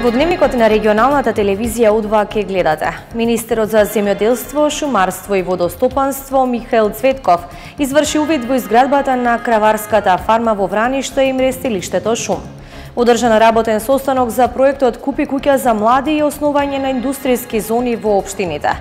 Во дневникот на регионалната телевизија У2 ке гледате. Министерот за земјоделство, шумарство и водостопанство Михаил Цветков изврши увид во изградбата на краварската фарма во Враништа и мрестилиштето Шум. Одржан работен состанок за проектот Купи куќа за млади и основање на индустријски зони во општините.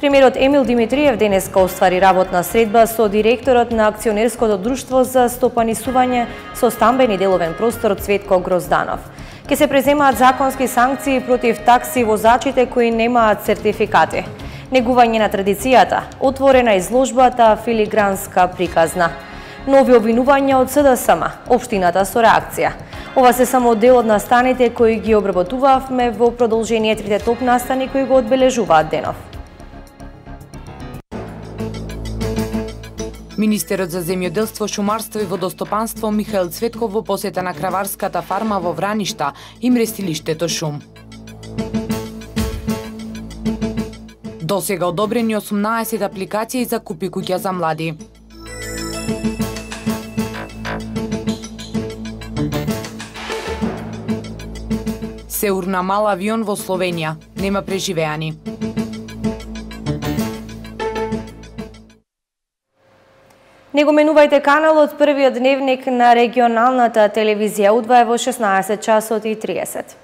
Премиерот Емил Димитриев денеска оствари работна средба со директорот на акционерското друштво за стопанисување со стамбен и деловен простор Цветко Грозданов. Ке се преземаат законски санкции против такси возачите кои немаат сертификати. Негување на традицијата, отворена изложбата, филигранска приказна. Нови обвинувања од СДСМ, општината со реакција. Ова се само дел од настаните кои ги обработувавме во продолжение трите топ настани кои го одбележуваат денов. Министерот за земјоделство, шумарство и водостопанство Михаил Цветков во посета на краварската фарма во Враништа и мрестилиштето Шум. Досега одобрени 18 апликации за Купи куќа за млади. Се урна мал авион во Словенија, нема преживеани. Не го менувајте каналот, првиот дневник на регионалната телевизија У2 во 16 часот и 30.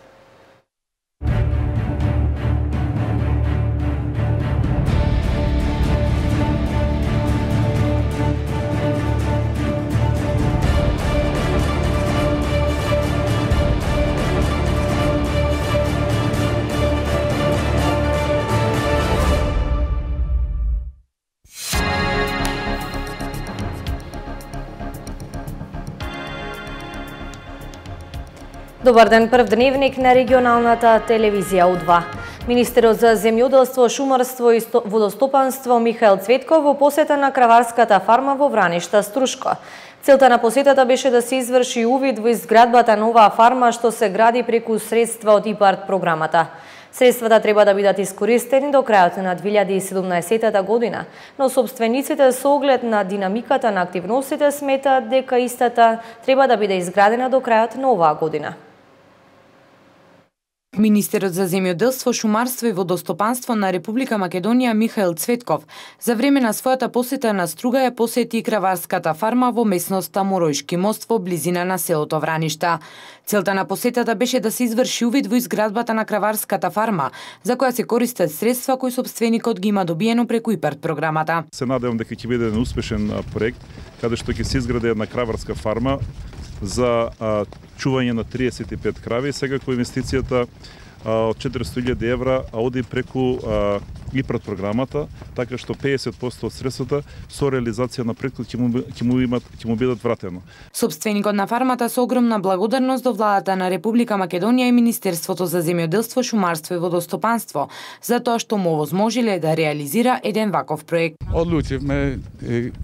Добар ден, прв дневник на регионалната телевизија У2. Министерот за земјоделство, шумарство и водостопанство Михаил Цветков во посета на краварската фарма во Враништа, Струшко. Целта на посетата беше да се изврши увид во изградбата на оваа фарма што се гради преку средства од ИПАРД програмата. Средствата треба да бидат искористени до крајот на 2017 година, но собствениците со оглед на динамиката на активностите сметаат дека истата треба да биде изградена до крајот на оваа година. Министерот за земјоделство, шумарство и водостопанство на Република Македонија Михаил Цветков за време на својата посета на Струга ја посети краварската фарма во местноста Моројшки мост во близина на селото Враништа. Целта на посетата беше да се изврши увид во изградбата на краварската фарма, за која се користат средства кои собственикот ги има добиено преку ИПАРД програмата. Се надевам дека ќе биде еден успешен проект каде што ќе се изгради една краварска фарма за чување на 35 крави. Секако инвестицијата од 400.000 евра оди преку ИПАРД програмата, така што 50% од средствата со реализација на проектот ќе му бидат вратено. Собственикот на фармата со огромна благодарност до владата на Република Македонија и Министерството за земјоделство, шумарство и водостопанство за тоа што му овозможиле да реализира еден ваков проект. Одлучивме,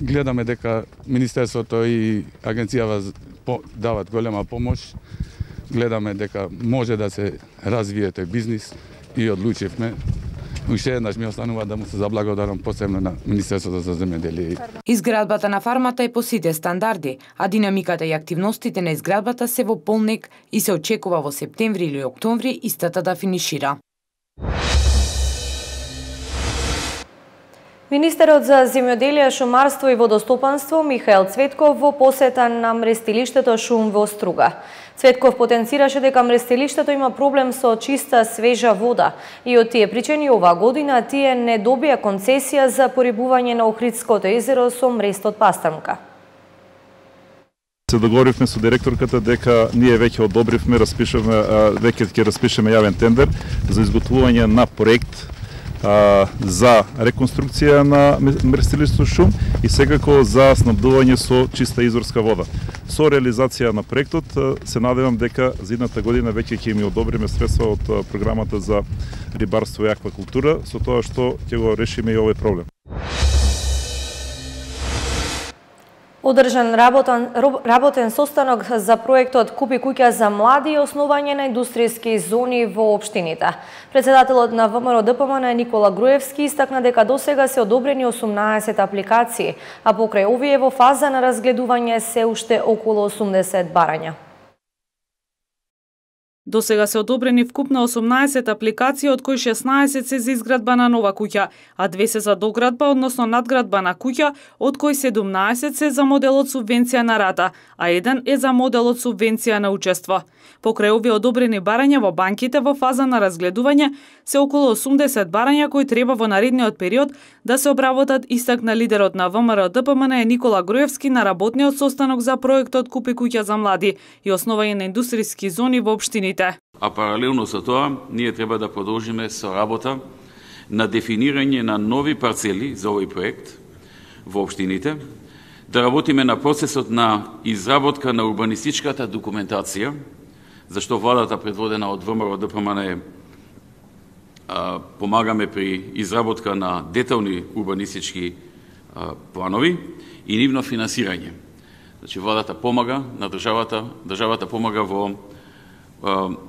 гледаме дека Министерството и агенцијава дават голема помош. Гледаме дека може да се развие тој бизнис и одлучивме. Уште еднаш ми останува да му се заблагодарам посебно на Министерството за земјоделие. Изградбата на фармата е по сите стандарди, а динамиката и активностите на изградбата се во полнек и се очекува во септември или октомври истата да финишира. Министерот за земјоделие, шумарство и водостопанство Михаил Цветков во посета на мрестилиштето Шум во Струга. Цветков потенцираше дека мрестилиштето има проблем со чиста, свежа вода и од тие причини оваа година тие не добија концесија за порибување на Охридското езеро со мрестот Пастрмка. Се договоривме со директорката дека ние веќе одобривме, веќе ќе распишеме јавен тендер за изготвување на проект за реконструкција на мрестилиштето Шум и секако за снабдување со чиста изворска вода. Со реализација на проектот се надевам дека за идната година веќе ќе ми одобриме средства од програмата за рибарство и аквакултура, со тоа што ќе го решиме и овој проблем. Одржан работен состанок за проектот Купи куќа за млади и основање на индустријски зони во општините. Председателот на ВМРО ДПМН Никола Груевски истакна дека досега се одобрени 18 апликации, а покрај овие во фаза на разгледување се уште околу 80 барања. До сега се одобрени вкупно 18 апликации, од кои 16 се за изградба на нова куќа, а 2 се за доградба, односно надградба на куќа, од кои 17 се за моделот субвенција на рата, а 1 е за моделот субвенција на учество. Покрај овие одобрени барања во банките во фаза на разгледување се околу 80 барања кои треба во наредниот период да се обработат, истакна лидерот на ВМРО ДПМН Никола Груевски на работниот состанок за проектот Купи куќа за млади и основање на индустријски зони во општините. А паралелно со тоа, ние треба да продолжиме со работа на дефинирање на нови парцели за овој проект во општините, да работиме на процесот на изработка на урбанистичката документација, зашто владата предводена од ВМРО ДПМН помагаме при изработка на детални урбанистички планови и нивно финансирање. Значи владата помага на државата помага во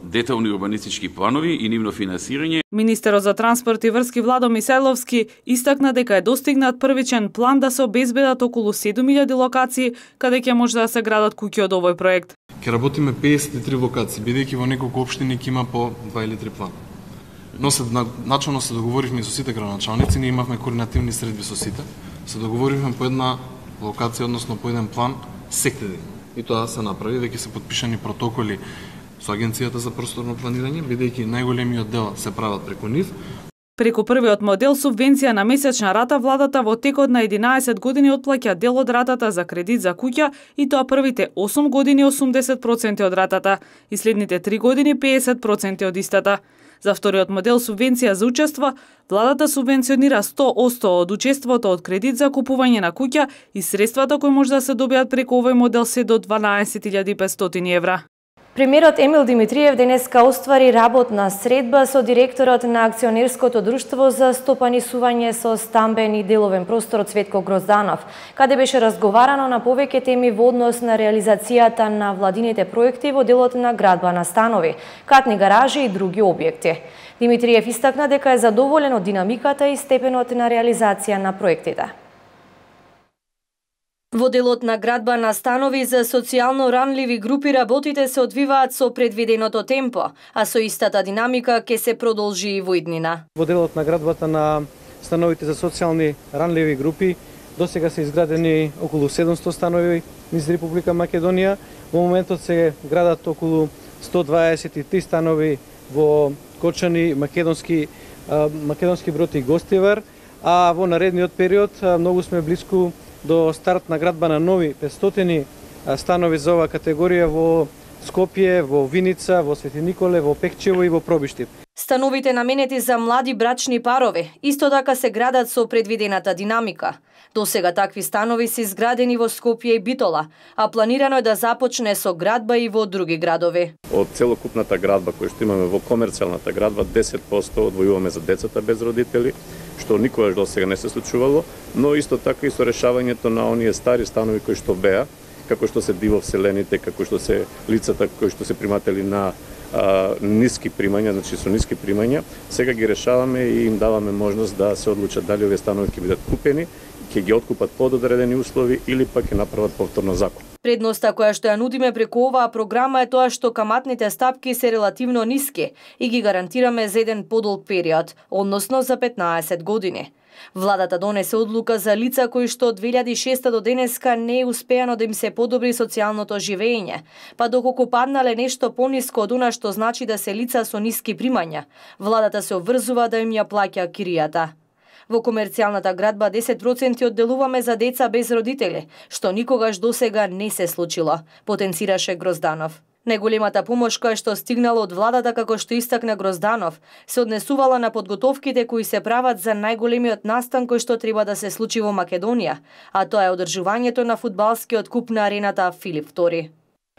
детални урбанистички планови и нивно финансирање. Министерот за транспорт и врски Владо Мисајловски истакна дека е достигнат првичен план да се обезбедат околу 7000 локации каде ќе може да се градат куќи од овој проект. Ќе работиме 53 локации, бидејќи во неколку општини ќе има по 2 или 3 плана. Но начално се договоривме со сите градоначалници, ние имавме координативни средби со сите. Се договоривме по една локација, односно по еден план секој ден. И тоа се направи, веќе се подпишани протоколи со Агенцијата за просторно планирање, бидејќи најголемиот дел се прават преку нив. Преку првиот модел субвенција на месечна рата, владата во текот на 11 години отплаќа дел од ратата за кредит за куќа и тоа првите 8 години 80% од ратата и следните 3 години 50% од истата. За вториот модел субвенција за учество, владата субвенционира 100% од учеството од кредит за купување на куќа и средствата кои може да се добијат преку овој модел се до 12.500 евра. Премиерот Емил Димитриев денеска оствари работна средба со директорот на акционерското друштво за стопанисување со стамбен и деловен простор Цветко Грозданов, каде беше разговарано на повеќе теми во однос на реализацијата на владините проекти во делот на градба на станови, катни гаражи и други објекти. Димитриев истакна дека е задоволен од динамиката и степенот на реализација на проектите. Во делот на градба на станови за социјално ранливи групи работите се одвиваат со предвиденото темпо, а со истата динамика ќе се продолжи и во иднина. Во делот на градбата на становите за социјални ранливи групи досега се изградени околу 700 станови низ Република Македонија. Во моментот се градат околу 123 станови во Кочани, Македонски Брод и Гостивар, а во наредниот период многу сме близку до старт на градба на нови 500 станови за оваа категорија во Скопје, во Виница, во Свети Николе, во Пекчево и во Пробиштип. Становите наменети за млади брачни парови исто така се градат со предвидената динамика. Досега такви станови се изградени во Скопје и Битола, а планирано е да започне со градба и во други градови. Од целокупната градба која што имаме во комерцијалната градба, 10% одвојуваме за децата без родители, што никогаш досега не се случувало, но исто така и со решавањето на оние стари станови кои што беа, како што се дивовселените, како што се лицата кои што се приматели на ниски примања, значи со ниски примања, сега ги решаваме и им даваме можност да се одлучат дали овие станови ќе бидат купени, ќе ги откупат под одредени услови или пак ќе направат повторно закуп. Предноста која што ја нудиме преку оваа програма е тоа што каматните стапки се релативно ниски и ги гарантираме за еден подолг период, односно за 15 години. Владата донесе одлука за лица кои што од 2006 до денеска не е успеано да им се подобри социјалното живење, па доколку паднале нешто пониско од она што значи да се лица со ниски примања, владата се обврзува да им ја плаќа киријата. Во комерцијалната градба 10% одделуваме за деца без родители, што никогаш досега не се случило, потенцираше Грозданов. Најголемата помош која што стигнала од владата, како што истакна Грозданов, се однесувала на подготовките кои се прават за најголемиот настан кој што треба да се случи во Македонија, а тоа е одржувањето на фудбалскиот куп на арената Филип II.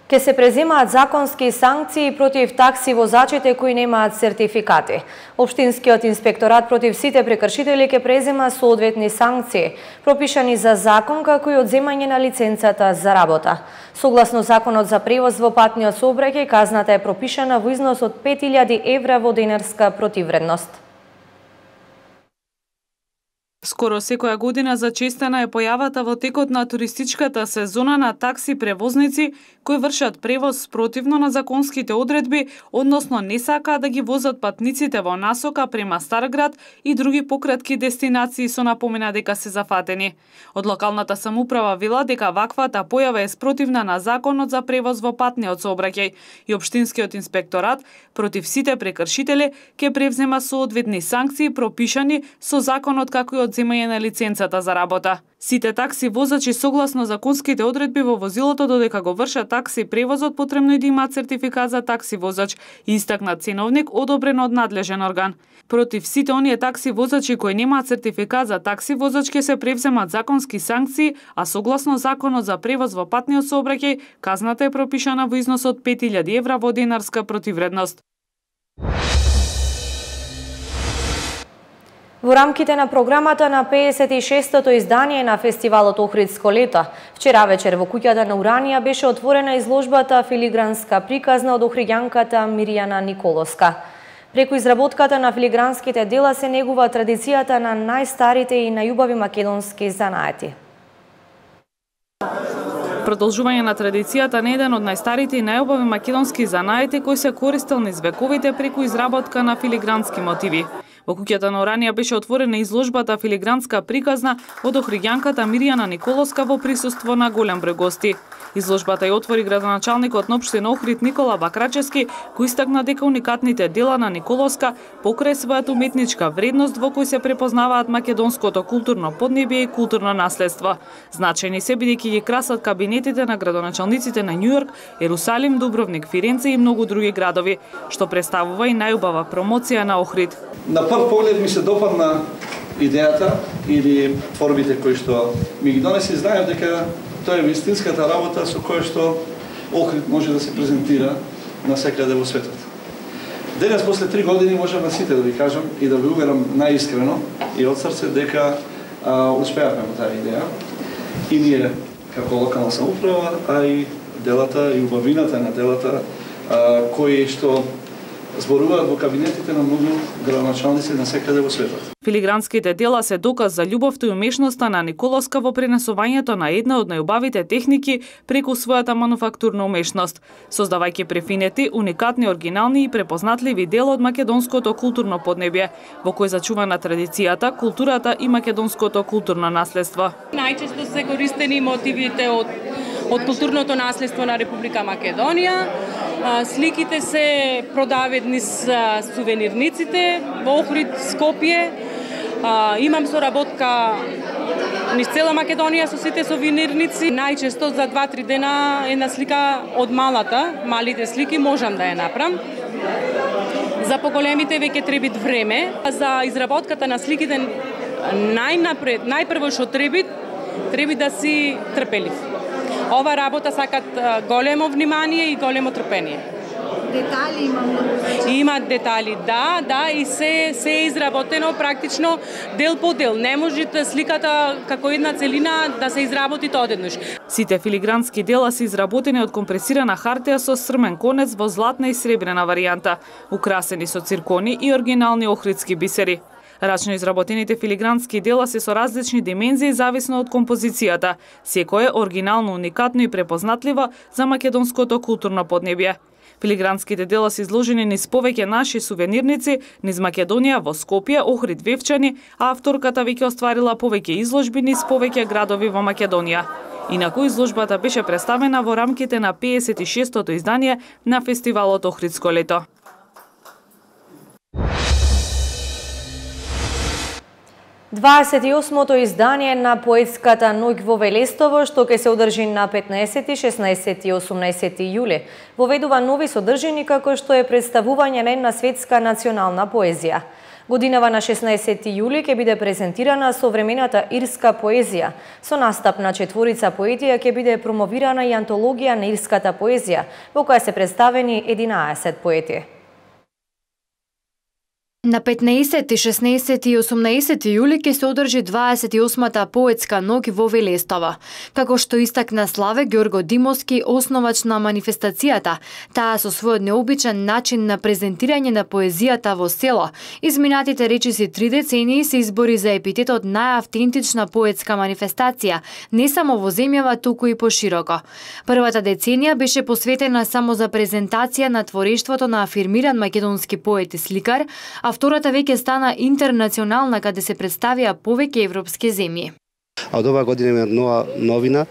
Ке се преземаат законски санкции против такси возачите кои немаат сертификати. Општинскиот инспекторат против сите прекршители ке презема соодветни санкции, пропишани за закон како и одземање на лиценцата за работа. Согласно законот за превоз во патниот сообраќај, казната е пропишана во износ од 5000 евра во денарска противвредност. Скоро секоја година зачестена е појавата во текот на туристичката сезона на такси превозници кои вршат превоз спротивно на законските одредби, односно не сакаат да ги возат патниците во насока према Старград и други пократки дестинации со напомена дека се зафатени. Од локалната самоуправа вела дека ваквата појава е спротивна на законот за превоз во патниот сообраќај и општинскиот инспекторат против сите прекршители ќе превзема соодветни санкции пропишани со законот, како и одземање на лиценцата за работа. Сите такси возачи согласно законските одредби во возилото додека го вршат такси превозот потребно и да имаат сертификат за такси возач и истакнат ценовник одобрен од надлежен орган. Против сите оние такси возачи кои немаат сертификат за такси возач ќе се превземат законски санкции, а согласно законот за превоз во патниот сообраќај казната е пропишана во износ од 5000 евра во денарска противредност. Во рамките на програмата на 56-тото издание на фестивалот Охридско лето, вчера вечер во куќата на Уранија беше отворена изложбата филигранска приказна од охриѓанката Мирјана Николовска. Преку изработката на филигранските дела се негува традицијата на најстарите и најубави македонски занаети. Продолжување на традицијата на еден од најстарите и најубави македонски занаети кои се користел низ вековите преку изработка на филигрански мотиви. Во куќата на Уранија беше отворена изложбата филигранска приказна од охриѓанката Мирјана Николовска во присуство на голем број гости. Изложбата ја отвори градоначалникот на општина Охрид Никола Бакрачевски, кој истакна дека уникатните дела на Николовска покрај својата уметничка вредност во кој се препознаваат македонското културно поднебје и културно наследство. Значајни се бидејќи ги красат кабинетите на градоначалниците на Њујорк, Ерусалим, Дубровник, Фиренце и многу други градови, што представува и најубава промоција на Охрид. На прв поглед ми се допадна идејата или формите кои што ми ги донеси, знаев дека тоа е вистинската работа со која што Охрид може да се презентира насекаде во светот. Денес, после 3 години, можам на сите да ви кажам и да ви уверам најискрено и од срце дека успеавме во таа идеја. И ние, како локална самоуправа, а и делата и убавината на делата кои што зборуваат во кабинетите на многу градоначалници насекаде во светот. Филигранските дела се доказ за љубовта и умешноста на Николовска во пренесувањето на една од најубавите техники преку својата мануфактурна умешност, создавајќи префинети, уникатни, оригинални и препознатливи дела од македонското културно поднебје, во кој зачувана традицијата, културата и македонското културно наследство. Најчесто се користени мотивите од културното наследство на Република Македонија. Сликите се продаваат низ сувенирниците во Охрид, Скопје. Имам соработка низ цела Македонија со сите сувенирници. Најчесто за 2-3 дена една слика од малите слики можам да ја направам. За поголемите веќе треба време. За изработката на сликите најпрво што треба да си трпелив. Ова работа сакат големо внимание и големо трпение. Детали има многу. Има детали, да, и се е изработено практично дел по дел. Не може сликата како една целина да се изработи тоа одеднаш. Сите филигрански дела се изработени од компресирана хартија со срмен конец во златна и сребрена варијанта, украсени со циркони и оригинални охридски бисери. Рачно изработените филигрански дела се со различни димензии зависно од композицијата. Секој е оригинално, уникатно и препознатливо за македонското културно поднебје. Филигранските дела се изложени низ повеќе наши сувенирници, низ Македонија во Скопје, Охрид, Вевчани, а авторката веќе остварила повеќе изложби низ повеќе градови во Македонија. Инаку изложбата беше представена во рамките на 56-тото издание на фестивалот Охридско лето. Двадесет и осмото издание на поетската ноќ во Велестово, што ќе се одржи на 15, 16 и 18 јули, воведува нови содржини како што е представување на една светска национална поезија. Годинава на 16 јули ќе биде презентирана современата ирска поезија. Со настап на четворица поетија ќе биде промовирана и антологија на ирската поезија, во која се представени 11 поети. На 15, 16 и 18 јули ќе се одржи 28-та поетска ноќ во Велестово. Како што истакна Славе Ѓорго Димовски, основач на манифестацијата, таа со својот необичен начин на презентирање на поезијата во село, изминатите речиси 3 децении се избори за епитетот најавтентична поетска манифестација, не само во земјава, туку и пошироко. Првата деценија беше посветена само за презентација на творештвото на афирмиран македонски поет и сликар, а втората веќе стана интернационална, каде се представија повеќе европски земји. А од оваа година има нова новина,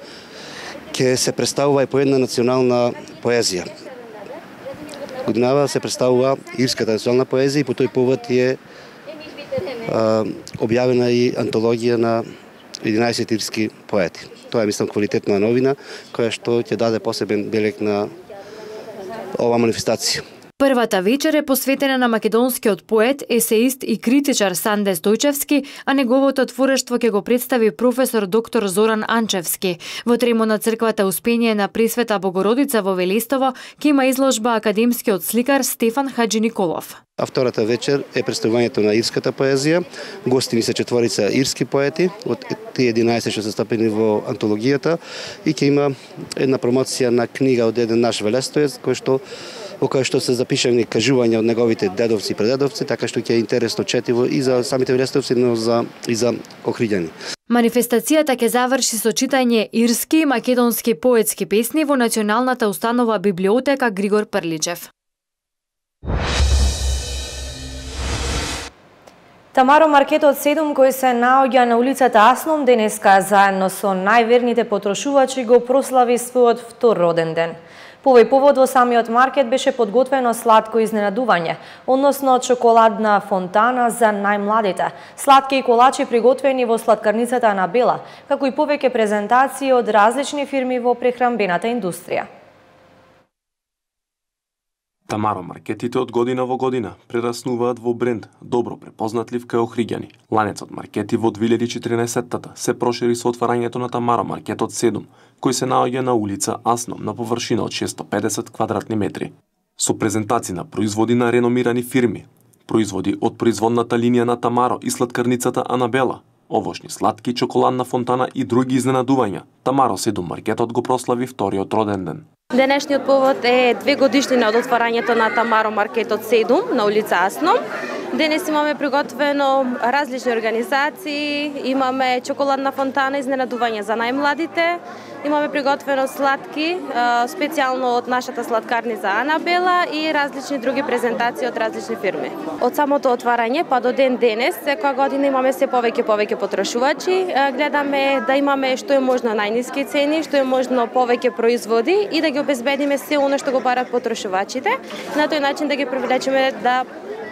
ќе се представува и по една национална поезија. Годинава се представува ирската национална поезија и по тој повод е објавена и антологија на 11 ирски поети. Тоа е, мислам, квалитетна новина, која што ќе даде посебен белег на оваа манифестација. Првата вечер е посветена на македонскиот поет, есеист и критичар Санде Стојчевски, а неговото творештво ќе го представи професор доктор Зоран Анчевски. Во тремо на црквата Успение на Пресвета Богородица во Велестово ќе има изложба академскиот сликар Стефан Хаджи Николов. А втората вечер е представувањето на ирската поезија. Гостини се четворица ирски поети од тие 11 што се стапени во антологијата и ќе има една промоција на книга од еден наш велестоец во кој што се запишани кажувања од неговите дедовци и предедовци, така што ќе е интересно четиво и за самите велестовци, но и за охриѓани. Манифестацијата ќе заврши со читање ирски и македонски поетски песни во Националната установа библиотека Григор Прличев. Тамаро маркетот 7 кој се наоѓа на улицата Асном денеска заедно со најверните потрошувачи го прослави својот втор роден ден. По овој повод во самиот маркет беше подготвено сладко изненадување, односно чоколадна фонтана за најмладите, сладки и колачи приготвени во сладкарницата Анабела, како и повеќе презентации од различни фирми во прехранбената индустрија. Тамаро маркетите од година во година прераснуваат во бренд, добро препознатлив кај охриѓани. Ланецот маркети во 2014-тата се прошири со отварањето на Тамаро маркетот 7, кој се наоѓа на улица Асном на површина од 650 квадратни метри. Со презентации на производи на реномирани фирми, производи од производната линија на Тамаро и сладкарницата Анабела, овошни сладки, чоколадна фонтана и други изненадувања, Тамаро 7 маркетот го прослави вториот роден ден. Денешниот повод е 2 годишнина од отварањето на Тамаро маркетот 7 на улица Асном. Денес имаме приготвено различни организации, имаме чоколадна фонтана, изненадување за најмладите, имаме приготвено сладки, специјално од нашата сладкарница Анабела и различни други презентации од различни фирми. Од самото отварање па до ден денес, секоја година имаме се повеќе потрошувачи, гледаме да имаме што е можно најниски цени, што е можно повеќе производи и да ги обезбедиме се оно што го барат потрошувачите, на тој начин да ги привлечеме да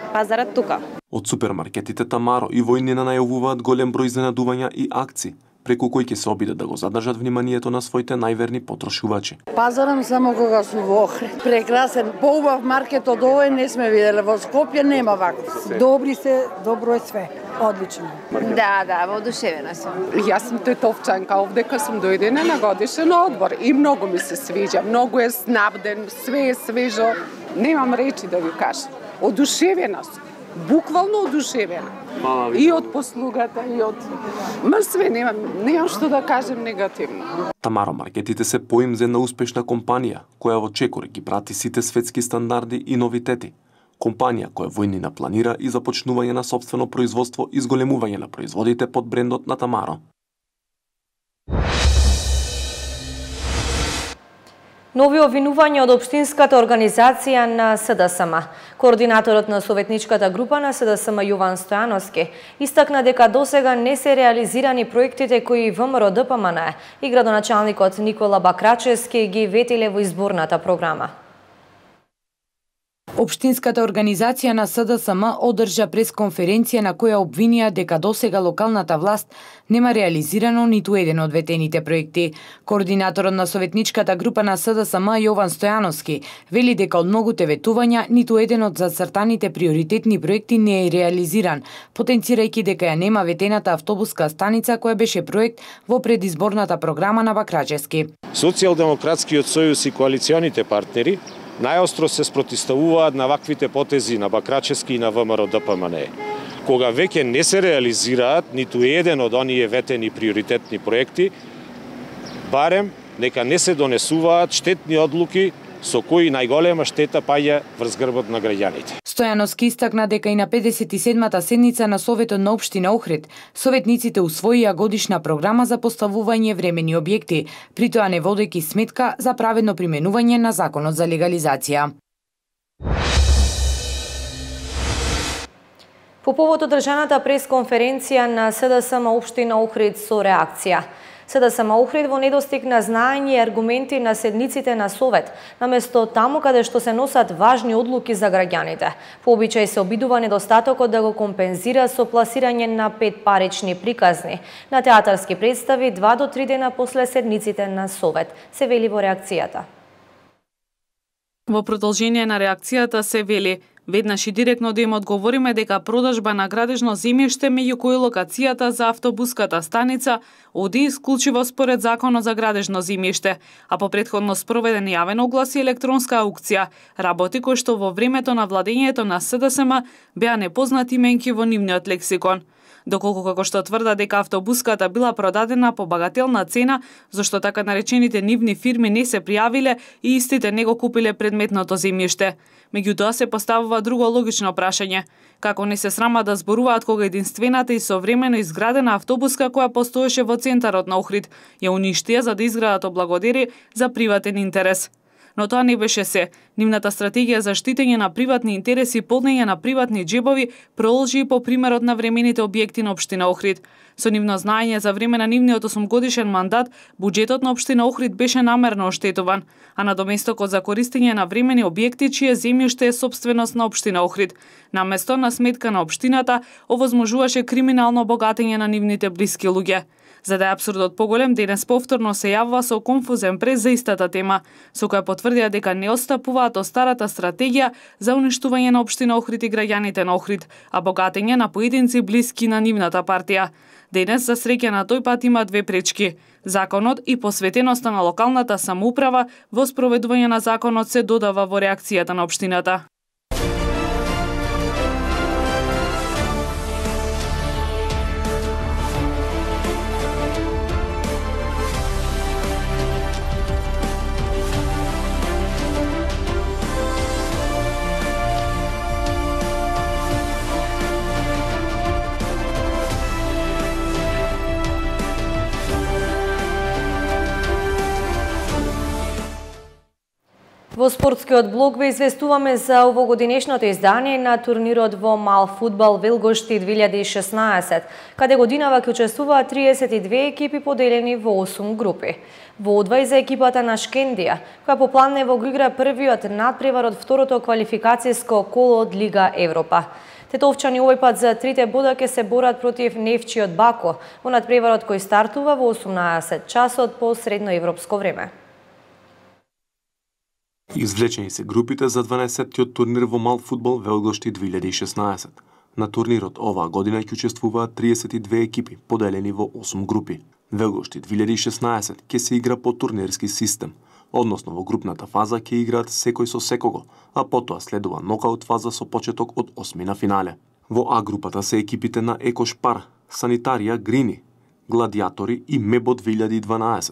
пазарат тука. Од супермаркетите Тамаро и Војнина најавуваат голем број изненадувања и акции, преку кои ќе се обидат да го задржат вниманието на своите најверни потрошувачи. Пазарам само кога су во Охрид. Прекрасен, поубав маркет од овој не сме виделе. Во Скопје нема ваков. Добри се, добро е све. Одлично. Да, воодушевена сум. Јас сум тетовчанка, овдека сум дојдена на годишен одбор и многу ми се свиѓа. Многу е снабден, све е свежо. Немам речи да ви кажам. Одушевена сум. Буквално одушевена. И од послугата, и од... све, немам што да кажем негативно. Тамаро маркетите се поим за една успешна компанија, која во чекор ги прати сите светски стандарди и новитети. Компанија која Војнина планира и започнување на сопствено производство и зголемување на производите под брендот на Тамаро. Нови обвинувања од Општинската организација на СДСМ. Координаторот на советничката група на СДСМ Јован Стојановски истакна дека досега не се реализирани проектите кои ВМРО ДПМН и градоначалникот Никола Бакрачевски ги ветиле во изборната програма. Општинската организација на СДСМ одржа пресконференција на која обвинија дека досега локалната власт нема реализирано ниту еден од ветените проекти. Координаторот на советничката група на СДСМ Јован Стојановски вели дека од многуте ветувања ниту еден од зацртаните приоритетни проекти не е реализиран, потенцирајќи дека ја нема ветената автобуска станица која беше проект во предизборната програма на Бакрачевски. Социјалдемократскиот сојуз и коалиционите партнери најостро се спротивставуваат на ваквите потези на Бакрачевски и на ВМРО ДПМН. Кога веќе не се реализираат ниту еден од оние ветени приоритетни проекти, барем нека не се донесуваат штетни одлуки со кои најголема штета паѓа врз грбот на граѓаните. Стојановски истакна дека и на 57-та седница на Советот на општина Охрид, советниците усвоија годишна програма за поставување времени објекти, при тоа не водејќи сметка за праведно применување на законот за легализација. По повод одржаната пресконференција на СДСМ општина Охрид со реакција. СДСМ Охрид во недостиг на знаење и аргументи на седниците на Совет, наместо таму каде што се носат важни одлуки за граѓаните. По обичај се обидува недостатокот да го компензира со пласирање на 5 парични приказни на театарски представи 2 до 3 дена после седниците на Совет, се вели во реакцијата. Во продолжение на реакцијата се вели: веднаш и директно да им одговориме дека продажба на градежно земјиште меѓу кои локацијата за автобуската станица оди исклучиво според законот за градежно земјиште, а по претходно спроведен јавен оглас и електронска аукција, работи кои што во времето на владењето на СДСМ беа непознати именки во нивниот лексикон. Доколку како што тврда дека автобуската била продадена по багателна цена, зашто така наречените нивни фирми не се пријавиле и истите не го купиле предметното земјиште. Меѓутоа се поставува друго логично прашање: како не се срама да зборуваат кога единствената и современо изградена автобуска која постоеше во центарот на Охрид ја уништија за да изградат облагодери за приватен интерес. Но тоа не беше се. Нивната стратегија за штитење на приватни интереси и полнење на приватни джебови продолжи и по примерот на времените објекти на општина Охрид. Со нивно знаење за време на нивниот 8-годишен мандат, буџетот на општина Охрид беше намерно оштетуван, а надоместокот за користење на времени објекти чие земјиште е сопственост на општина Охрид, наместо на сметка на општината, овозможуваше криминално богатење на нивните блиски луѓе. За да е абсурдот поголем, денес повторно се јавува со конфузен прес за истата тема, со која потврдија дека не отстапуваат од старата стратегија за уништување на општина Охрид и граѓаните на Охрид, а богатење на поединци блиски на нивната партија. Денес, за среќа на тој пат, има две пречки. Законот и посветеноста на локалната самоуправа во спроведување на законот се додава во реакцијата на општината. Во спортскиот блог ве известуваме за овогодинешното издание на турнирот во мал фудбал Велгошти 2016, каде годинава ќе учествуваат 32 екипи поделени во 8 групи. Во одвај за екипата на Шкендија, која по план во го игра првиот надпревар од второто квалификацијско коло од Лига Европа. Тетовчани овој пат за 3 бода ќе се борат против Невчиот Бако во надпреварот кој стартува во 18 часот по средноевропско време. Извлечени се групите за 12-тиот турнир во мал фудбал Велгошти 2016. На турнирот оваа година ќе учествуваат 32 екипи, поделени во 8 групи. Велгошти 2016 ќе се игра по турнирски систем, односно во групната фаза ќе играат секој со секого, а потоа следува нокаут фаза со почеток од 8 на финале. Во А групата се екипите на Екошпар, Санитарија Грини, Гладиатори и Мебо 2012.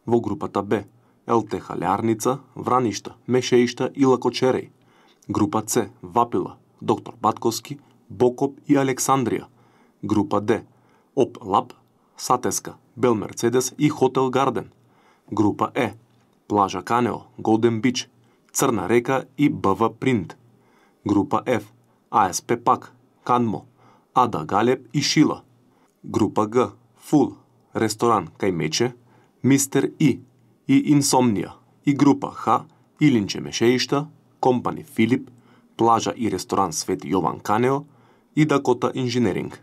Во групата Б ЛТХ Лярница, Враништа, Мешеишта и Лакочереј. Група С Вапила, Доктор Батковски, Бокоп и Александрија. Група Д ОП Лаб, Сатеска, Бел Мерцедес и Хотел Гарден. Група Е Плажа Канео, Голден Бич, Црна река и БВ Принт. Група Ф АСП Пак, Канмо, Ада Галеб и Шила. Група Г Фул, Ресторан Кајмече, Мистер И Инсомнија, и група Х Илинче Мешеишта, Компани Филип, Плажа и ресторан Свети Јован Канео и Дакота Инженеринг.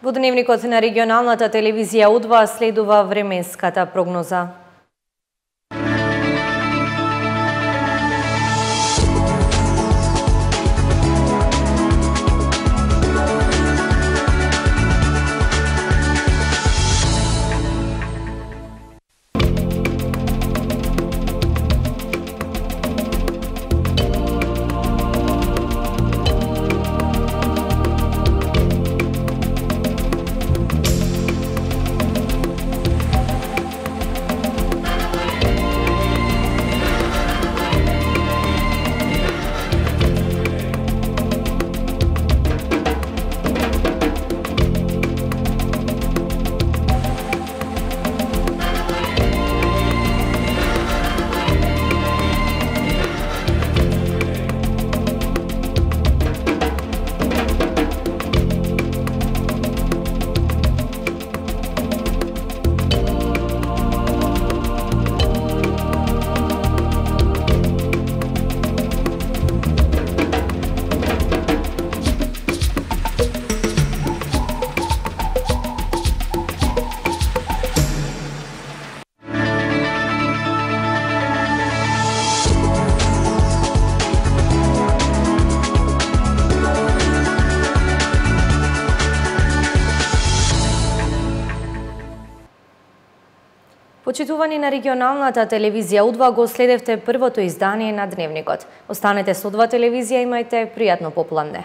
Во дневникот на регионалната телевизија У2 следува временската прогноза. Почитувани на регионалната телевизија У2 го следевте првото издание на Дневникот. Останете со У2 телевизија, имајте пријатно попладне.